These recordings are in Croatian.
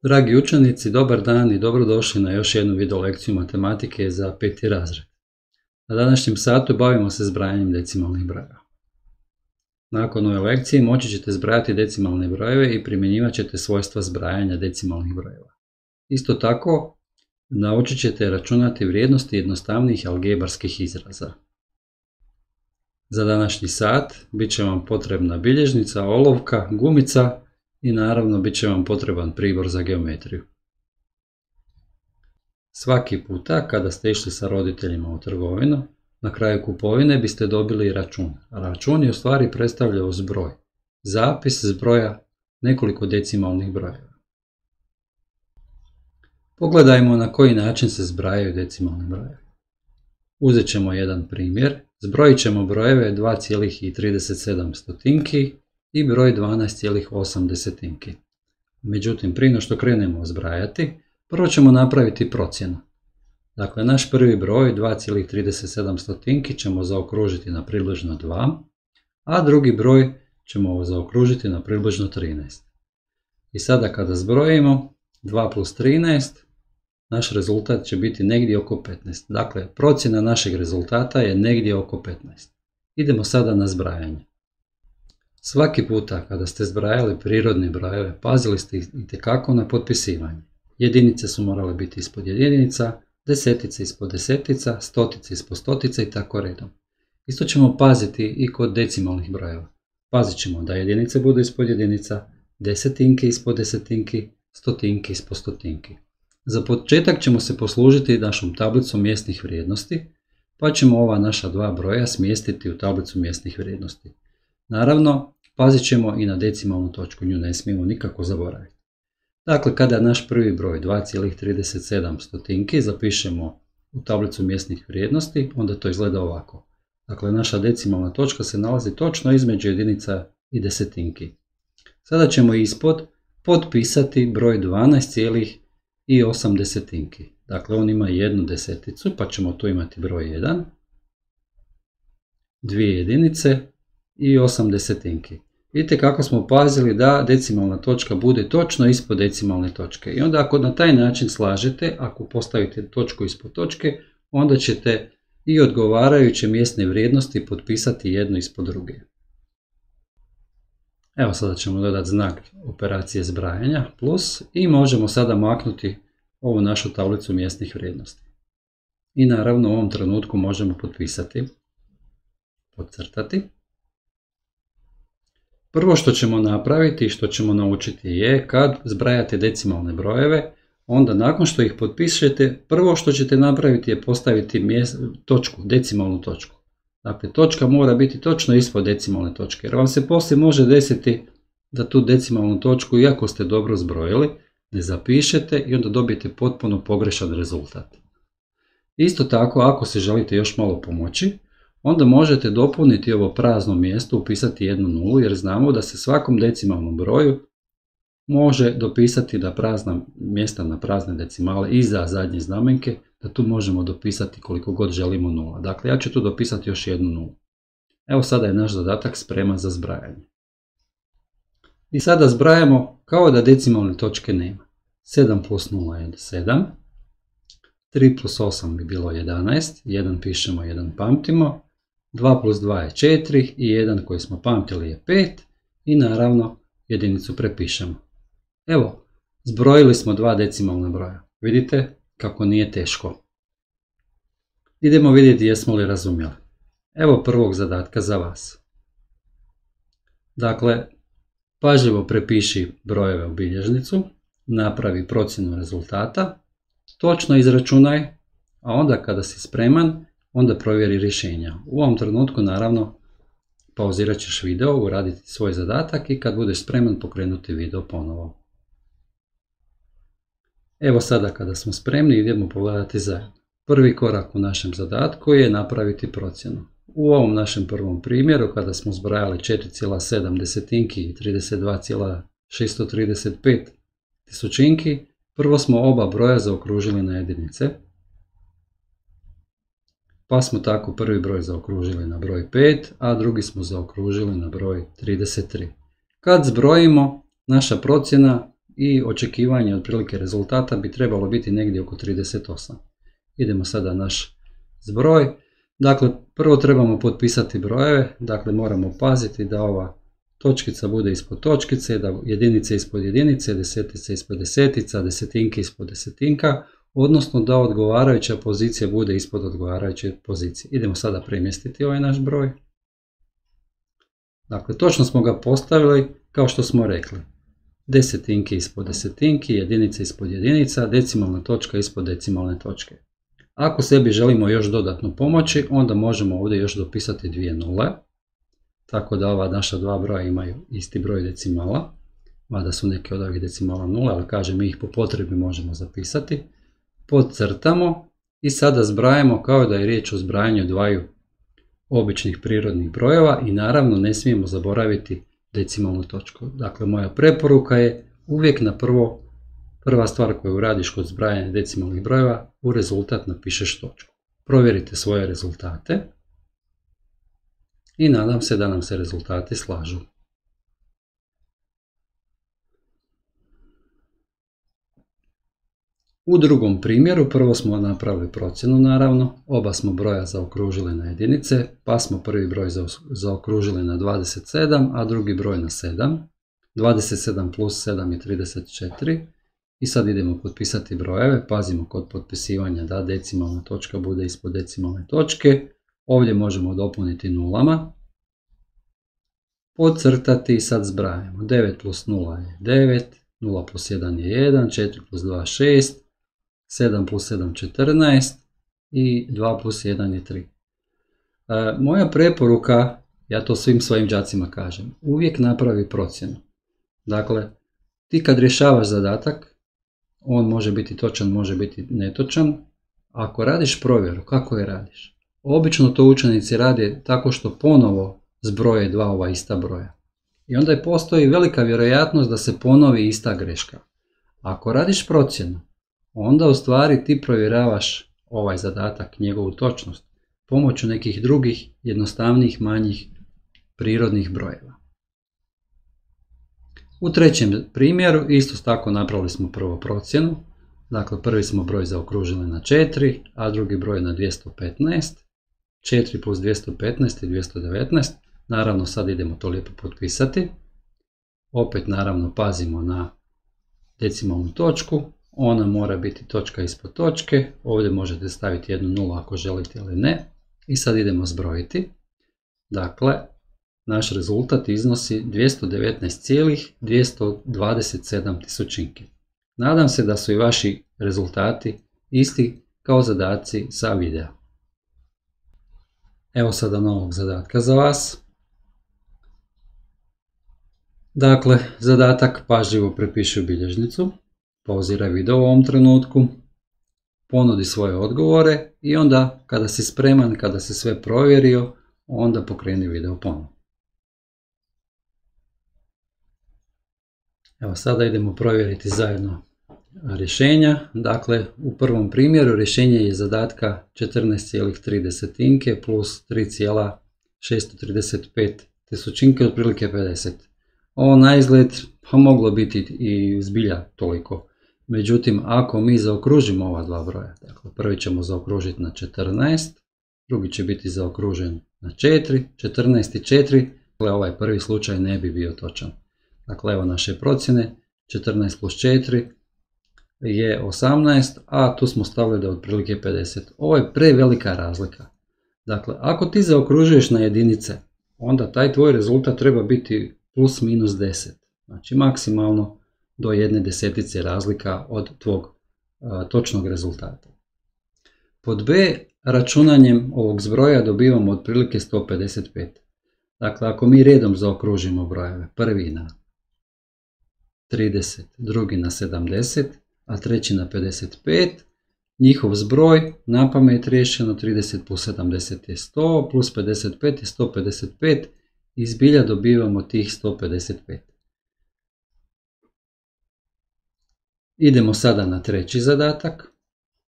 Dragi učenici, dobar dan i dobrodošli na još jednu video lekciju matematike za 5. razred. Na današnjem satu bavimo se zbrajanjem decimalnih brojeva. Nakon ove lekcije moći ćete zbrajati decimalne brojeve i primjenjivat ćete svojstva zbrajanja decimalnih brojeva. Isto tako, naučit ćete računati vrijednosti jednostavnijih algebarskih izraza. Za današnji sat bit će vam potrebna bilježnica, olovka, gumica i naravno bit će vam potreban pribor za geometriju. Svaki puta kada ste išli sa roditeljima u trgovinu, na kraju kupovine biste dobili račun. Račun je u stvari predstavljao zbroj, zapis zbroja nekoliko decimalnih brojeva. Pogledajmo na koji način se zbrajaju decimalni brojevi. Uzet ćemo jedan primjer, zbrojit ćemo brojeve 2,37 i broj 12,8. Međutim, prije no što krenemo zbrajati, prvo ćemo napraviti procjenu. Dakle, naš prvi broj 2,37 ćemo zaokružiti na približno 2, a drugi broj ćemo zaokružiti na približno 13. I sada kada zbrojimo 2 plus 13, naš rezultat će biti negdje oko 15. Dakle, procjena našeg rezultata je negdje oko 15. Idemo sada na zbrajanje. Svaki puta kada ste zbrajali prirodne brojeve, pazili ste itekako na potpisivanje. Jedinice su morale biti ispod jedinica, desetice ispod desetica, stotice ispod stotica i tako redom. Isto ćemo paziti i kod decimalnih brojeva. Pazit ćemo da jedinice budu ispod jedinica, desetinke ispod desetinki, stotinke ispod stotinki. Za početak ćemo se poslužiti našom tablicom mjesnih vrijednosti, pa ćemo ova naša dva broja smjestiti u tablicu mjesnih vrijednosti. Naravno, pazit ćemo i na decimalnu točku, nju ne smijemo nikako zaboraviti. Dakle, kada naš prvi broj 2,37 zapišemo u tablicu mjesnih vrijednosti, onda to izgleda ovako. Dakle, naša decimalna točka se nalazi točno između jedinica i desetinki. Sada ćemo ispod potpisati broj 12,8. Dakle, on ima jednu deseticu, pa ćemo tu imati broj 1, dvije jedinice i 8 desetinki. Vidite kako smo pazili da decimalna točka bude točno ispod decimalne točke. I onda ako na taj način slažete, ako postavite točku ispod točke, onda ćete i odgovarajuće mjesne vrijednosti potpisati jednu ispod druge. Evo sada ćemo dodati znak operacije zbrajanja plus i možemo sada maknuti ovu našu tablicu mjesnih vrijednosti. I naravno u ovom trenutku možemo potpisati, podcrtati. Prvo što ćemo napraviti i što ćemo naučiti je kad zbrajate decimalne brojeve, onda nakon što ih potpišete, prvo što ćete napraviti je postaviti točku, decimalnu točku. Dakle, točka mora biti točno ispod decimalne točke, jer vam se poslije može desiti da tu decimalnu točku, iako ste dobro zbrojili, ne zapišete i onda dobijete potpuno pogrešan rezultat. Isto tako, ako se želite još malo pomoći, onda možete dopuniti ovo prazno mjesto, upisati jednu nulu, jer znamo da se svakom decimalnom broju može dopisati da prazna mjesta na prazne decimale iza zadnje znamenke, da tu možemo dopisati koliko god želimo nula. Dakle, ja ću tu dopisati još jednu nulu. Evo sada je naš zadatak spreman za zbrajanje. I sada zbrajamo kao da decimalne točke nema. 7 plus 0 je 7, 3 plus 8 bi bilo 11, 1 pišemo, 1 pamtimo, 2 plus 2 je 4 i 1 koji smo pamtili je 5 i naravno jedinicu prepišemo. Evo, zbrojili smo dva decimalna broja. Vidite kako nije teško. Idemo vidjeti jesmo li razumjeli. Evo prvog zadatka za vas. Dakle, pažljivo prepiši brojeve u bilježnicu, napravi procjenu rezultata, točno izračunaj, a onda kada si spreman, onda provjeri rješenja. U ovom trenutku naravno pauzirat ćeš video, uraditi svoj zadatak i kad budeš spreman pokrenuti video ponovo. Evo sada kada smo spremni idemo pogledati zajedno. Prvi korak u našem zadatku je napraviti procjenu. U ovom našem prvom primjeru kada smo zbrajali 4,7 desetinki i 32,635 tisućinki, prvo smo oba broja zaokružili na jedinice. Pa smo tako prvi broj zaokružili na broj 5, a drugi smo zaokružili na broj 33. Kad zbrojimo, naša procjena i očekivanje otprilike rezultata bi trebalo biti negdje oko 38. Idemo sada na naš zbroj. Dakle, prvo trebamo potpisati brojeve, dakle moramo paziti da ova točkica bude ispod točkice, da jedinice ispod jedinice, desetice ispod desetica, desetinke ispod desetinka, odnosno da odgovarajuća pozicija bude ispod odgovarajuće pozicije. Idemo sada premjestiti ovaj naš broj. Dakle, točno smo ga postavili kao što smo rekli. Desetinke ispod desetinki, jedinice ispod jedinica, decimalna točka ispod decimalne točke. Ako sebi želimo još dodatno pomoći, onda možemo ovdje još dopisati dvije nule, tako da ova naša dva broja imaju isti broj decimala, mada su neke od ovih decimala nula, ali kažem, mi ih po potrebi možemo zapisati. Podcrtamo i sada zbrajamo kao da je riječ o zbrajanju dvaju običnih prirodnih brojeva i naravno ne smijemo zaboraviti decimalnu točku. Dakle, moja preporuka je uvijek na prva stvar koju radiš kod zbrajanja decimalnih brojeva, u rezultat napišeš točku. Provjerite svoje rezultate i nadam se da nam se rezultati slažu. U drugom primjeru prvo smo napravili procjenu naravno, oba smo broja zaokružili na jedinice, pa smo prvi broj zaokružili na 27, a drugi broj na 7. 27 plus 7 je 34 i sad idemo potpisati brojeve, pazimo kod potpisivanja da decimalna točka bude ispod decimalne točke, ovdje možemo dopuniti nulama, podcrtati i sad zbrajamo. 9 plus 0 je 9, 0 plus 1 je 1, 4 plus 2 je 6, 7 plus 7 14 i 2 plus 1 je 3. Moja preporuka, ja to svim svojim đacima kažem, uvijek napravi procjenu. Dakle, ti kad rješavaš zadatak, on može biti točan, može biti netočan. Ako radiš provjeru, kako je radiš? Obično to učenici rade tako što ponovo zbroje dva ova ista broja. I onda postoji velika vjerojatnost da se ponovi ista greška. Ako radiš procjenu, onda u stvari ti provjeravaš ovaj zadatak, njegovu točnost, pomoću nekih drugih, jednostavnijih, manjih prirodnih brojeva. U trećem primjeru isto tako napravili smo prvo procjenu. Dakle, prvi smo broj zaokružili na 4, a drugi broj na 215. 4 plus 215 je 219. Naravno, sad idemo to lijepo potpisati. Opet, naravno, pazimo na decimalnu točku. Ona mora biti točka ispod točke. Ovdje možete staviti jednu nulu ako želite ili ne. I sad idemo zbrojiti. Dakle, naš rezultat iznosi 219,227 tisućinki. Nadam se da su i vaši rezultati isti kao zadaci sa videa. Evo sada novog zadatka za vas. Dakle, zadatak pažljivo prepiši u bilježnicu, pauziraj video u ovom trenutku, ponudi svoje odgovore i onda kada si spreman, kada si sve provjerio, onda pokreni video ponovno. Evo sada idemo provjeriti zajedno rješenja. Dakle, u prvom primjeru rješenje je zadatka 14,3 plus 3,635 tisućinke, otprilike 50. Ovo na izgled pa moglo biti i zbilja toliko. Međutim, ako mi zaokružimo ova dva broja, dakle prvi ćemo zaokružiti na 14, drugi će biti zaokružen na 4, 14 i 4, dakle ovaj prvi slučaj ne bi bio točan. Dakle, evo naše procjene, 14 plus 4 je 18, a tu smo stavili da je otprilike 50. Ovo je prevelika razlika. Dakle, ako ti zaokružuješ na jedinice, onda taj tvoj rezultat treba biti plus minus 10. Znači, maksimalno do jedne desetice razlika od tvog točnog rezultata. Pod B, računanjem ovog zbroja dobivamo otprilike 155. Dakle, ako mi redom zaokružimo brojeve, prvi na 30, drugi na 70, a treći na 55, njihov zbroj napamet riješeno 30 plus 70 je 100, plus 55 je 155 i zbilja dobivamo tih 155. Idemo sada na treći zadatak.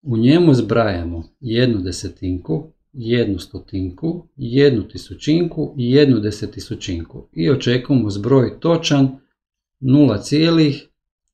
U njemu zbrajamo jednu desetinku, jednu stotinku, jednu tisućinku i jednu desetisućinku i očekujemo zbroj točan 0,0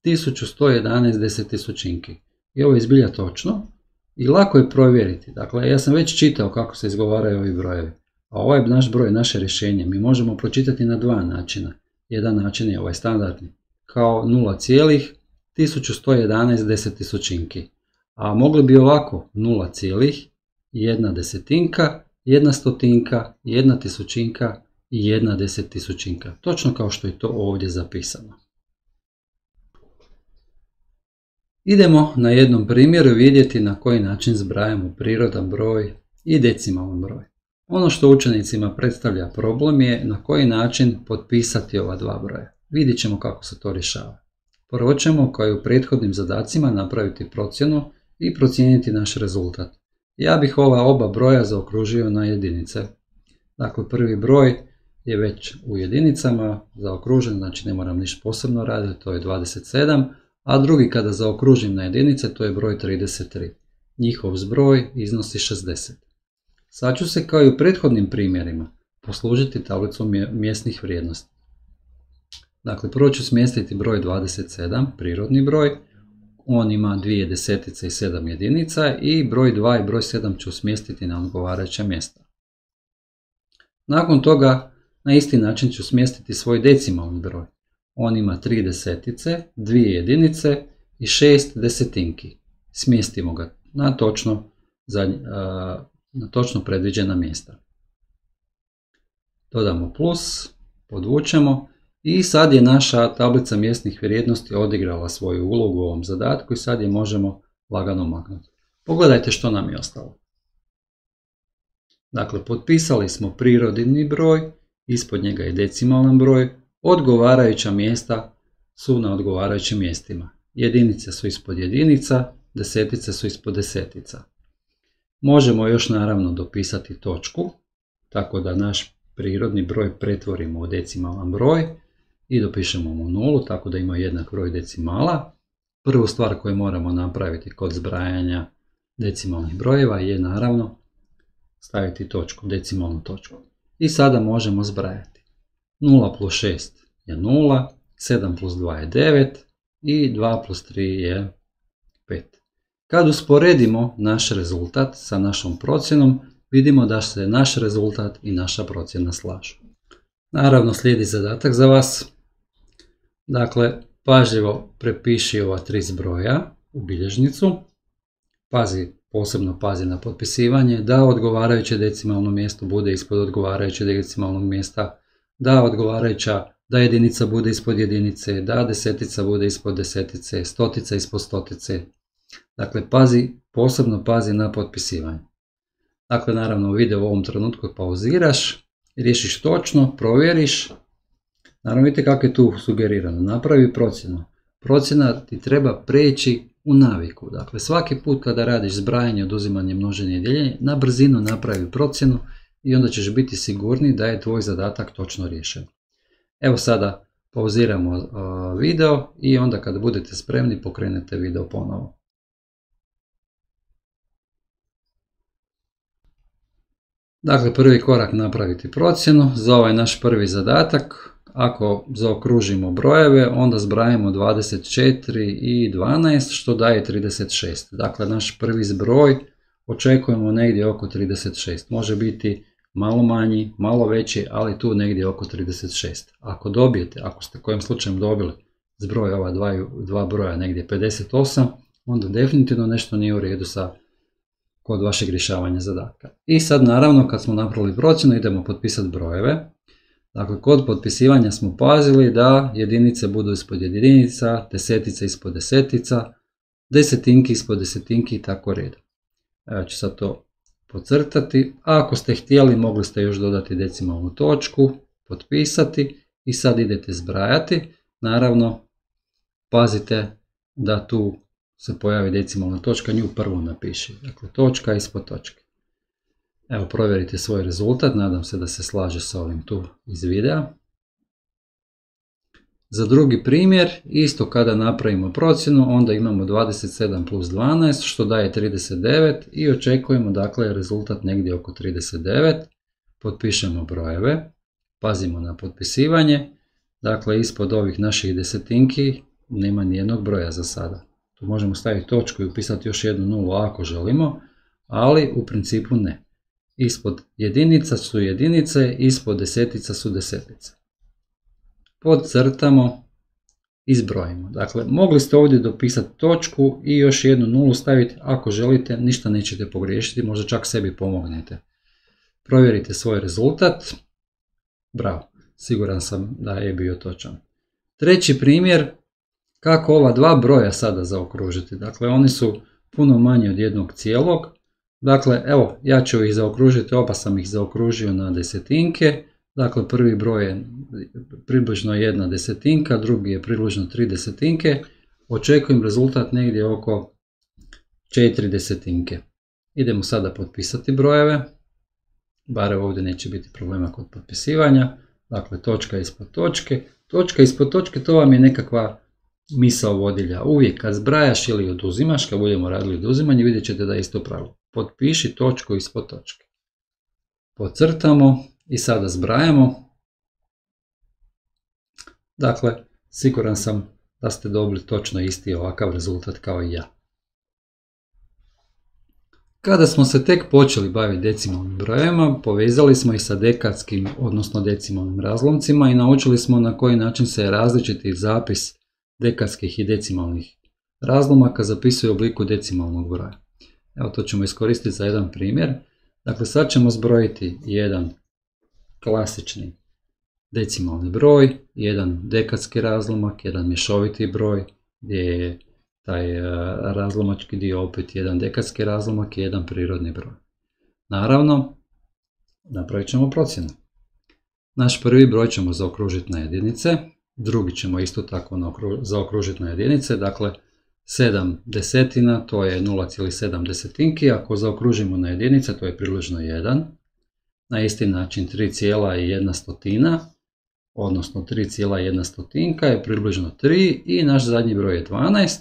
1111 desetisućinki. I ovo je zbilja točno i lako je provjeriti. Dakle, ja sam već čitao kako se izgovaraju ovi brojevi. A ovaj naš broj, naše rješenje, mi možemo pročitati na dva načina. Jedan način je ovaj standardni, kao 0,1111 desetisućinki. A mogli bi ovako 0,1 desetinka, 1 stotinka, 1 tisućinka i 1 desetisućinka. Točno kao što je to ovdje zapisano. Idemo na jednom primjeru vidjeti na koji način zbrajamo prirodan broj i decimalan broj. Ono što učenicima predstavlja problem je na koji način potpisati ova dva broja. Vidjet ćemo kako se to rješava. Prvo ćemo, kao i u prethodnim zadacima, napraviti procjenu i procijeniti naš rezultat. Ja bih ova oba broja zaokružio na jedinice. Dakle, prvi broj je već u jedinicama zaokružen, znači ne moram ništa posebno raditi, to je 27, a drugi kada zaokružim na jedinice, to je broj 33. Njihov zbroj iznosi 60. Sad ću se, kao i u prethodnim primjerima, poslužiti tablicom mjesnih vrijednosti. Dakle, prvo ću smjestiti broj 27, prirodni broj, on ima 2 desetice i 7 jedinica, i broj 2 i broj 7 ću smjestiti na odgovarajuća mjesta. Nakon toga, na isti način ću smjestiti svoj decimalni broj. On ima 3 desetice, 2 jedinice i 6 desetinki. Smjestimo ga na točno predviđena mjesta. Dodamo plus, podvučemo i sad je naša tablica mjesnih vrijednosti odigrala svoju ulogu u ovom zadatku i sad je možemo lagano maknuti. Pogledajte što nam je ostalo. Dakle, potpisali smo prirodni broj, ispod njega je decimalan broj, odgovarajuća mjesta su na odgovarajućim mjestima. Jedinice su ispod jedinica, desetice su ispod desetica. Možemo još naravno dopisati točku, tako da naš prirodni broj pretvorimo u decimalan broj i dopišemo mu nulu, tako da ima jednak broj decimala. Prvu stvar koju moramo napraviti kod zbrajanja decimalnih brojeva je naravno staviti točku, decimalnu točku. I sada možemo zbrajati. 0 plus 6 je 0, 7 plus 2 je 9 i 2 plus 3 je 5. Kad usporedimo naš rezultat sa našom procjenom, vidimo da se naš rezultat i naša procjena slažu. Naravno, slijedi zadatak za vas. Dakle, pažljivo prepiši ova 3 zbroja u bilježnicu. Posebno pazi na potpisivanje, da odgovarajuće decimalno mjesto bude ispod odgovarajućeg decimalnog mjesta, da jedinica bude ispod jedinice, da desetica bude ispod desetice, stotica ispod stotice. Dakle, posebno pazi na potpisivanje. Dakle, naravno, video u ovom trenutku pauziraš, riješiš točno, provjeriš. Naravno, vidite kako je tu sugerirano. Napravi procjenu. Procjena ti treba preći u naviku. Dakle, svaki put kada radiš zbrajanje, oduzimanje, množenje i dijeljenje, na brzinu napravi procjenu i onda ćeš biti sigurni da je tvoj zadatak točno riješen. Evo sada pauziramo video i onda kada budete spremni pokrenete video ponovo. Dakle, prvi korak napraviti procjenu. Za ovaj naš prvi zadatak, ako zaokružimo brojeve, onda zbrajamo 24 i 12, što daje 36. Dakle, naš prvi zbroj očekujemo negdje oko 36. Može biti malo manji, malo veći, ali tu negdje oko 36. Ako dobijete, ako ste kojim slučajem dobili zbroj ova dva broja negdje 58, onda definitivno nešto nije u redu kod vašeg rješavanja zadatka. I sad naravno kad smo napravili procjenu idemo potpisati brojeve. Dakle, kod potpisivanja smo pazili da jedinice budu ispod jedinica, desetice ispod desetica, desetinki ispod desetinki i tako redom. Evo ću sad to podcrtati. A ako ste htjeli mogli ste još dodati decimalnu točku, potpisati i sad idete zbrajati. Naravno, pazite da tu se pojavi decimalna točka, nju prvo napiši. Dakle, točka ispod točke. Evo, provjerite svoj rezultat, nadam se da se slaže sa ovim tu iz videa. Za drugi primjer, isto kada napravimo procjenu, onda imamo 27 plus 12, što daje 39 i očekujemo dakle rezultat negdje oko 39. Potpišemo brojeve, pazimo na potpisivanje, dakle ispod ovih naših desetinki nema nijednog broja za sada. Tu možemo staviti točku i upisati još jednu nulu ako želimo, ali u principu ne. Ispod jedinica su jedinice, ispod desetica su desetice. Podcrtamo i zbrojimo. Dakle, mogli ste ovdje dopisati točku i još jednu nulu staviti, ako želite, ništa nećete pogriješiti, možda čak sebi pomognete. Provjerite svoj rezultat. Bravo, siguran sam da je bio točan. Treći primjer, kako ova dva broja sada zaokružiti. Dakle, oni su puno manji od jednog cijelog. Dakle, evo, ja ću ih zaokružiti, oba sam ih zaokružio na desetinke. Dakle, prvi broj je približno 1/10, drugi je približno 3/10. Očekujem rezultat negdje oko 4/10. Idemo sada potpisati brojeve. Bar ovdje neće biti problema kod potpisivanja. Dakle, točka ispod točke. Točka ispod točke, to vam je nekakva misao vodilja. Uvijek kad zbrajaš ili oduzimaš, kad budemo radili oduzimanje, vidjet ćete da je isto pravilo. Potpiši točku ispod točke. Podcrtamo i sada zbrajamo. Dakle, siguran sam da ste dobili točno isti ovakav rezultat kao i ja. Kada smo se tek počeli baviti decimalnim brojevima, povezali smo ih sa dekadskim, odnosno decimalnim razlomcima i naučili smo na koji način se različiti zapis dekadskih i decimalnih razlomaka zapisuje u obliku decimalnog broja. Evo, to ćemo iskoristiti za jedan primjer. Dakle, sad ćemo zbrojiti jedan klasični decimalni broj, jedan dekadski razlomak, jedan mješoviti broj, gdje je taj razlomački dio opet jedan dekadski razlomak i jedan prirodni broj. Naravno, napravit ćemo procjenu. Naš prvi broj ćemo zaokružiti na jedinice, drugi ćemo isto tako zaokružiti na jedinice, dakle 7/10 to je 0,7, ako zaokružimo na jedinice to je približno 1. Na isti način 3,1, odnosno 3,1 je približno 3 i naš zadnji broj je 12.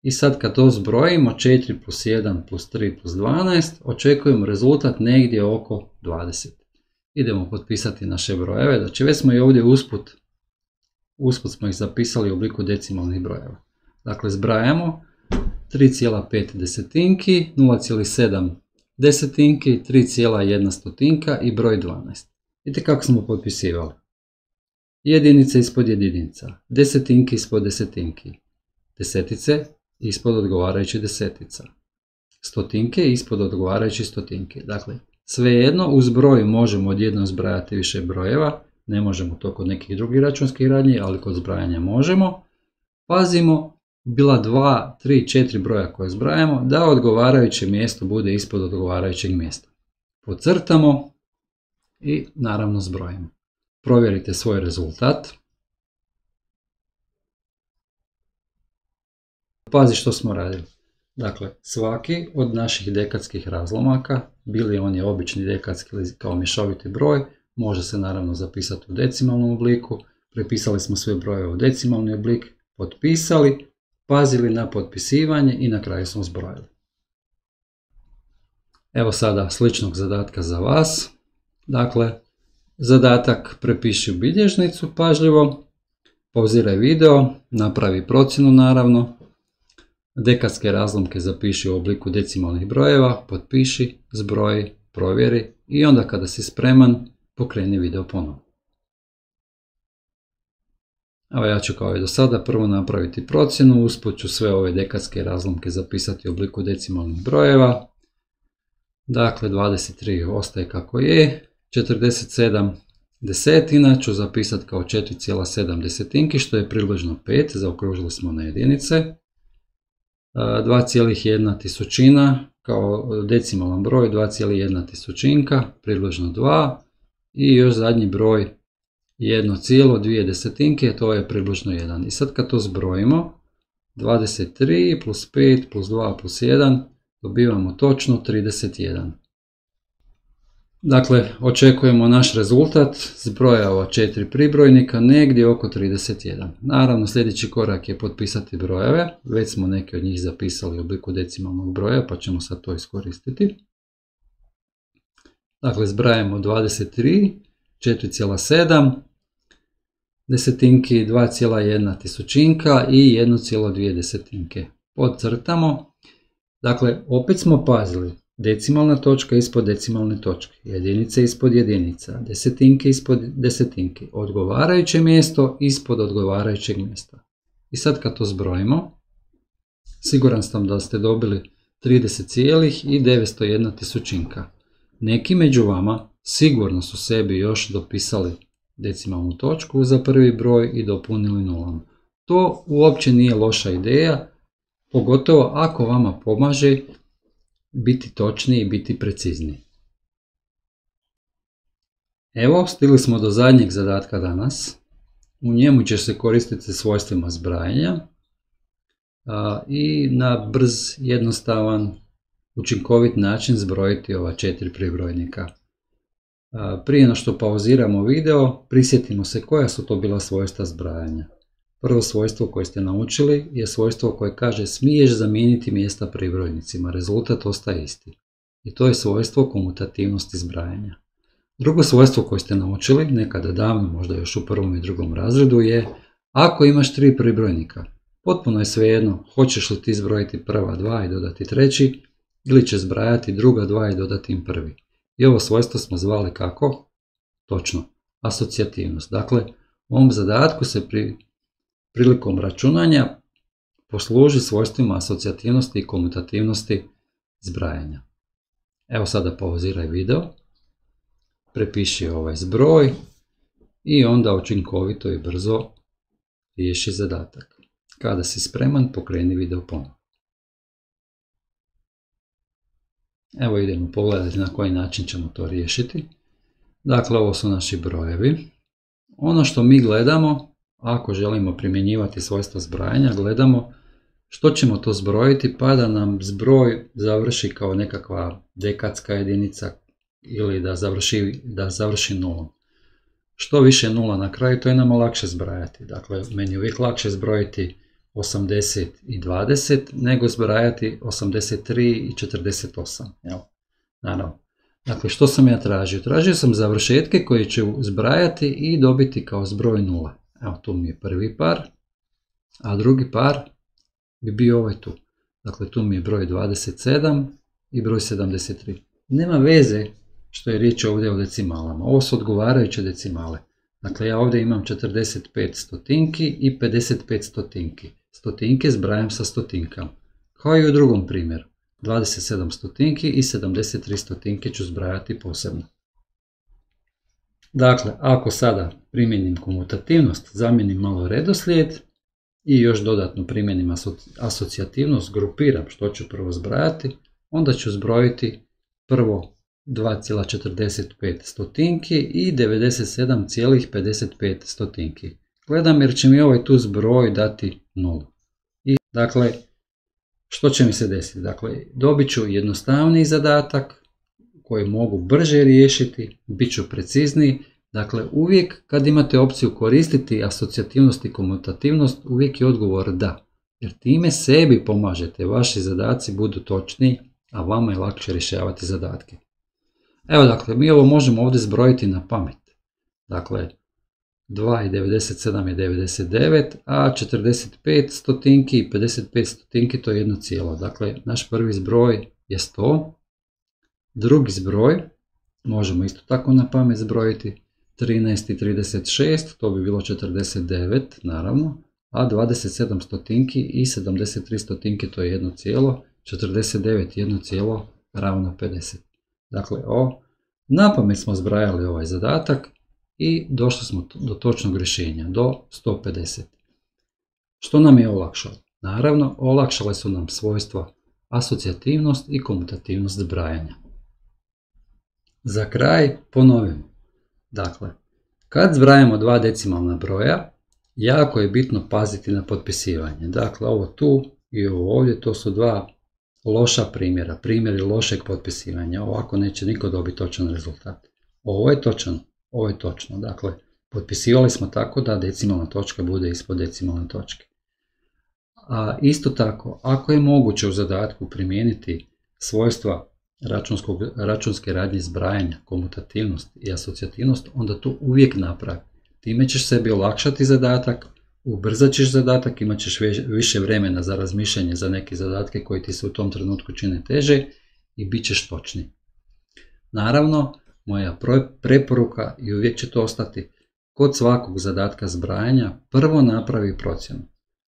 I sad kad to zbrojimo 4 plus 1 plus 3 plus 12, očekujemo rezultat negdje oko 20. Idemo potpisati naše brojeve, znači već smo i ovdje usput smo ih zapisali u obliku decimalnih brojeva. Dakle, zbrajamo 3,5 desetinki, 0,7 desetinki, 3,1 i broj 12. Vidite kako smo potpisivali. Jedinice ispod jedinica, desetinki ispod desetinki, desetice ispod odgovarajući desetica, stotinke ispod odgovarajući stotinke. Dakle, svejedno uz broj možemo odjednom zbrajati više brojeva, ne možemo to kod nekih drugih računskih radnji, ali kod zbrajanja možemo. Pazimo, bila 2, 3, 4 broja koje zbrajamo, da odgovarajuće mjesto bude ispod odgovarajućeg mjesta. Podcrtamo i naravno zbrojimo. Provjerite svoj rezultat. Pazi što smo radili. Dakle, svaki od naših dekadskih razlomaka, bili oni obični dekadski ili kao mješoviti broj, može se naravno zapisati u decimalnom obliku. Prepisali smo sve brojeve u decimalni oblik, potpisali, pazili na potpisivanje i na kraju smo zbrojili. Evo sada sličnog zadatka za vas. Dakle, zadatak prepiši u bilježnicu pažljivo, pauziraj video, napravi procjenu naravno, dekadske razlomke zapiši u obliku decimalnih brojeva, potpiši, zbroji, provjeri i onda kada si spreman, pokreni video ponovno. Evo, ja ću kao i do sada prvo napraviti procjenu, usput ću sve ove dekadske razlomke zapisati u obliku decimalnih brojeva. Dakle, 23 ostaje kako je, 47 desetina ću zapisati kao 4,7 desetinki, što je približno 5, zaokružili smo na jedinice. 2,1 tisućina kao decimalan broj, 2,1 tisućinka, približno 2. I još zadnji broj 1,2 desetinke, to je približno 1. I sad kad to zbrojimo, 23 plus 5 plus 2 plus 1, dobivamo točno 31. Dakle, očekujemo naš rezultat zbroja ova 4 pribrojnika negdje oko 31. Naravno, sljedeći korak je potpisati brojeve. Već smo neke od njih zapisali u obliku decimalnog broja, pa ćemo sad to iskoristiti. Dakle, zbrajamo 23, 4,7, desetinki, 2,1 tisućinka i 1,2 desetinke. Podcrtamo. Dakle, opet smo pazili. Decimalna točka ispod decimalne točke, jedinice ispod jedinica, desetinke ispod desetinke, odgovarajuće mjesto ispod odgovarajućeg mjesta. I sad kad to zbrojimo, siguran sam da ste dobili 30,901 tisućinka. Neki među vama sigurno su sebi još dopisali decimalnu točku za prvi broj i dopunili nulom. To uopće nije loša ideja, pogotovo ako vama pomaže biti točniji i biti precizniji. Evo, stigli smo do zadnjeg zadatka danas. U njemu će se koristiti svojstvima zbrajanja i na brz, jednostavan, učinkovit način zbrojiti ova 4 pribrojnika. Prije no što pauziramo video, prisjetimo se koja su to bila svojstva zbrajanja. Prvo svojstvo koje ste naučili je svojstvo koje kaže smiješ zamijeniti mjesta pribrojnicima, rezultat ostaje isti. I to je svojstvo komutativnosti zbrajanja. Drugo svojstvo koje ste naučili, nekada davno, možda još u prvom i drugom razredu, je ako imaš 3 pribrojnika, potpuno je svejedno hoćeš li ti zbrojiti prva 2 i dodati treći, ili će zbrajati druga 2 i dodati im prvi. I ovo svojstvo smo zvali kako? Točno, asocijativnost. Dakle, u ovom zadatku se prilikom računanja posluži svojstvima asocijativnosti i komutativnosti zbrajanja. Evo sada pauziraj video, prepiši ovaj zbroj i onda učinkovito i brzo riješi zadatak. Kada si spreman, pokreni video ponovno. Evo idemo pogledati na koji način ćemo to riješiti. Dakle, ovo su naši brojevi. Ono što mi gledamo, ako želimo primjenjivati svojstva zbrajanja, gledamo što ćemo to zbrojiti pa da nam zbroj završi kao nekakva dekadska jedinica ili da završi nulom. Što više nula na kraju, to je nama lakše zbrajati. Dakle, meni je uvijek lakše zbrojiti 80 i 20 nego zbrajati 83 i 48. Naravno. Dakle, što sam ja tražio? Tražio sam završetke koje ću zbrajati i dobiti kao zbroj 0. Evo, tu mi je prvi par, a drugi par bi bio ovaj tu. Dakle, tu mi je broj 27 i broj 73. Nema veze što je riječ ovdje o decimalama. Ovo su odgovarajuće decimale. Dakle, ja ovdje imam 45 stotinki i 55 stotinki. Stotinke zbrajam sa stotinkama. Kao i u drugom primjeru. 27 stotinki i 73 stotinke ću zbrajati posebno. Dakle, ako sada primjenim komutativnost, zamijenim malo redoslijed i još dodatno primjenim asocijativnost, grupiram što ću prvo zbrajati, onda ću zbrojiti prvo 2,45 stotinki i 97,55 stotinki. Gledam jer će mi ovaj tu zbroj dati 0. I dakle, što će mi se desiti? Dakle, dobit ću jednostavniji zadatak koji mogu brže riješiti, bit ću precizniji. Dakle, uvijek kad imate opciju koristiti asocijativnost i komutativnost, uvijek je odgovor da. Jer time sebi pomažete, vaši zadaci budu točniji, a vama je lakše rješavati zadatke. Evo, dakle, mi ovo možemo ovdje zbrojiti na pamet. Dakle, 2 i 97 je 99, a 45 stotinki i 55 stotinki to je jedno cijelo. Dakle, naš prvi zbroj je 100. Drugi zbroj možemo isto tako na pamet zbrojiti. 13 i 36, to bi bilo 49, naravno. A 27 stotinki i 73 stotinki to je jedno cijelo. 49 jedno cijelo ravno 50. Dakle, na pamet smo zbrajali ovaj zadatak i došli smo do točnog rješenja, do 150. Što nam je olakšalo? Naravno, olakšale su nam svojstva asocijativnost i komutativnost zbrajanja. Za kraj ponovim. Dakle, kad zbrajamo dva decimalna broja, jako je bitno paziti na potpisivanje. Dakle, ovo tu i ovo ovdje, to su dva loša primjera, primjeri lošeg potpisivanja. Ovako neće niko dobiti točan rezultat. Ovo je točan, ovo je točno. Dakle, potpisivali smo tako da decimalna točka bude ispod decimalne točke. A isto tako, ako je moguće u zadatku primijeniti svojstva računske radnje zbrajanja, komutativnost i asocijativnost, onda to uvijek napravi. Time ćeš sebi olakšati zadatak, ubrzat ćeš zadatak, imat ćeš više vremena za razmišljanje za neke zadatke koji ti se u tom trenutku čine teže i bit ćeš točni. Naravno, moja preporuka i uvijek će to ostati, kod svakog zadatka zbrajanja prvo napravi procjenu.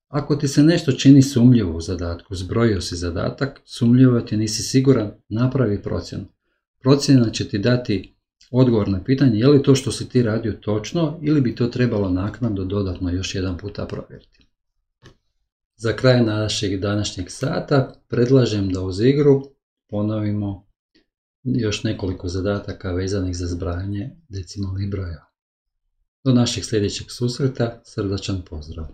Ako ti se nešto čini sumnjivo u zadatku, zbrojio si zadatak, sumnjivo ti nisi siguran, napravi procjenu. Procjena će ti dati odgovor na pitanje je li to što si ti radio točno ili bi to trebalo naknadno dodatno još jedan puta provjeriti. Za kraj našeg današnjeg sata predlažem da uz igru ponovimo još nekoliko zadataka vezanih za zbrajanje decimalnih brojeva. Do našeg sljedećeg susreta, srdačan pozdrav!